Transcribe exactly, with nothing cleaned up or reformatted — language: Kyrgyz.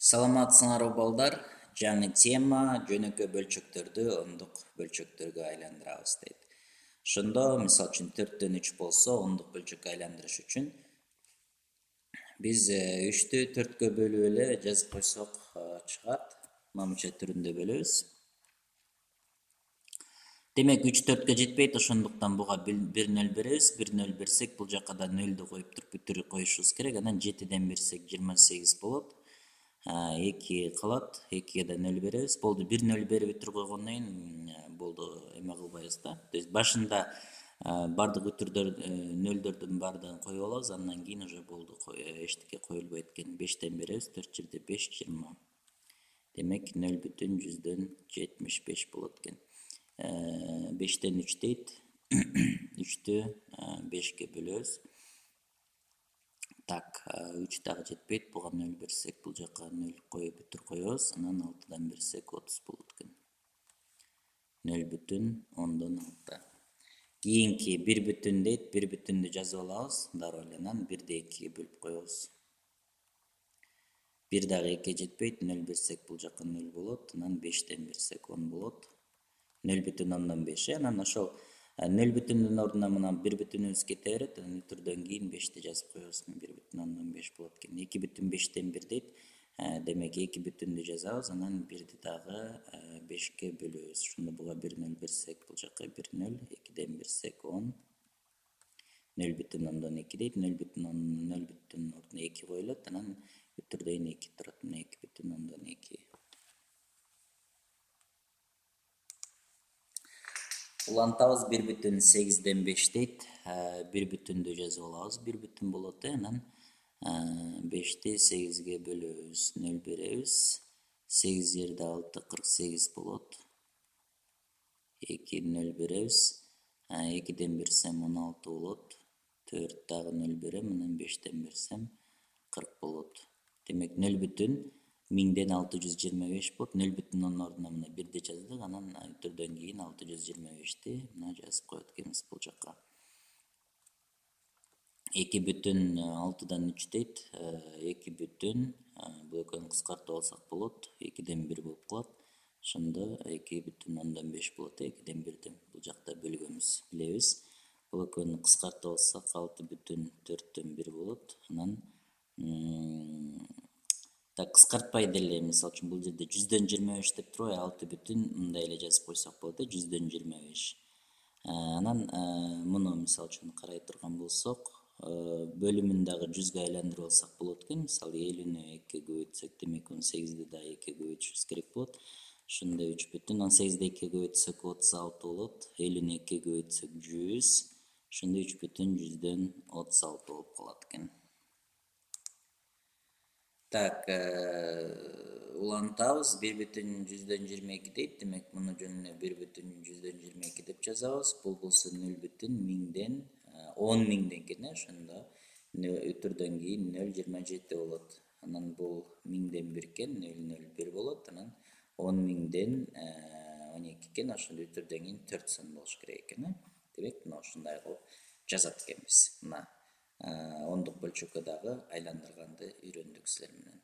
Саламатсыңарбы балдар? Жаңы тема жөнөкөй бөлчөктөрдү ондук бөлчөктөргө айландырабыз дейт. Ошондо, мисалы үчүн төрттөн үч болсо, ондук бөлчөккө айландырыш үчүн биз үчтү төрткө бөлүп эле жазып койсок чыгат. Мынча түрүндө бөлөбүз. Демек үч төрткө жетпейт, ошондуктан буга бир нөл беребиз. бир нөл берсек, бул жакка да нөлдү коюп туруп бүтүрүп коюшубуз керек. Анан жетиден берсек жыйырма сегиз болот. эки калат, экиге да нөл беребиз. Болду, бир нөл берип бүтүрүп койгондон кийин болду, эме кылбайбыз да. То есть башында бардык бүтүрдөр нөлдөрдүн баардыгын коюп алабыз, андан кийин уже болду, эчтеке коюлбайт экен. бештен беребиз, төрт жерде беш, жыйырма. Демек нөл бүтүн жүздөн жетимиш беш болот экен. бештен үч дейт. үчтү бешке бөлөбүз. Так, үч дагы жетпейт, буга нөл берсек, бул жака нөл коюп бүтүрүп коебуз. Анан алтыдан берсек отуз болот экен. нөл бүтүн ондон алты. Кийинки бир бүтүн дейт, бир бүтүндү жазып алабыз, дароо эле анан бирди экиге бөлүп коебуз. бир дагы экиге жетпейт, нөл берсек бул жака нөл болот, анан бештен берсек он болот. нөл бүтүн ондон беш. Анан ошол нөл бүтүндүн ордуна мына бир бүтүнүбүз кете берет, анан үтүрдөн кийин бешти жазып коебуз. бир бүтүн ондон беш болот экен. эки бүтүн бештен бир дейт. Демек эки бүтүндү жазабыз, анан бирди дагы бешке бөлөбүз. Ошондо буга бир нөл берсек, бул жака бир нөл, экиден берсек он. нөл бүтүн ондон эки дейт. нөл бүтүн нөл бүтүн ордуна эки коюлат, анан үтүрдөн эки турат. эки бүтүн ондон эки. Улантабыз, бир бүтүн сегизден беш дейт. бир бүтүндү жазып алабыз, бир бүтүн болот. Анан бешти сегизге бөлөбүз, нөл беребиз. сегиз жерде алты, кырк сегиз болот. эки нөл беребиз. экиден берсем он алты болот. төрт дагы нөл берем, анан бештен берсем кырк болот. Демек нөл бүтүн миңден алты жүз жыйырма беш болот. нөл бүтүн ондун ордуна мына бирди жаздык, анан үтүрдөн кийин алты жүз жыйырма бешти мына жазып коет экенбиз бул жака. эки бүтүн алтыдан үч дейт. эки бүтүн бул экөөнү кыскартып алсак болот. экиден бир болуп калат. Ошондо эки бүтүн ондон беш болот. экиден бирди бул жакта бөлгөнбүз, билебиз. Бул экөөнү кыскартып алсак алты бүтүн төрттөн бир болот. Анан так кыскартпай деле, мисалы үчүн бул жерде жүздөн жыйырма беш деп турбайбы, алты бүтүн мындай эле жазып койсок болот, жүздөн жыйырма беш. Анан муну мисалы үчүн карай турган болсок, бөлүмүн дагы жүзгө айландырып алсак болот экен. Мисалы элүүнү экиге көбөйтсөк, демек он сегизди дагы экиге көбөйтүшүбүз керек болот. Ошондо үч бүтүн он сегизди экиге көбөйтсөк отуз алты болот. элүүнү экиге көбөйтсөк жүз. Ошондо үч бүтүн жүздөн отуз алты болуп калат экен. Так, улантабыз, бир бүтүн жүздөн жыйырма эки дейт. Демек муну жөнүнө бир бүтүн жүздөн жыйырма эки деп жазабыз. Бул болсо нөл бүтүн миңден он миңден экен, ошондо үтүрдөн кийин нөл жыйырма жети болот. Анан бул миңден бир экен, нөл нөл бир болот. Анан он миңден он эки экен, ошондо үтүрдөн кийин төрт сон болуш керек экен. Демек мына ушундай кылып жазат экенбиз. Мына ондук бөлчөккө дагы айландырганды үйрөндүк силер менен.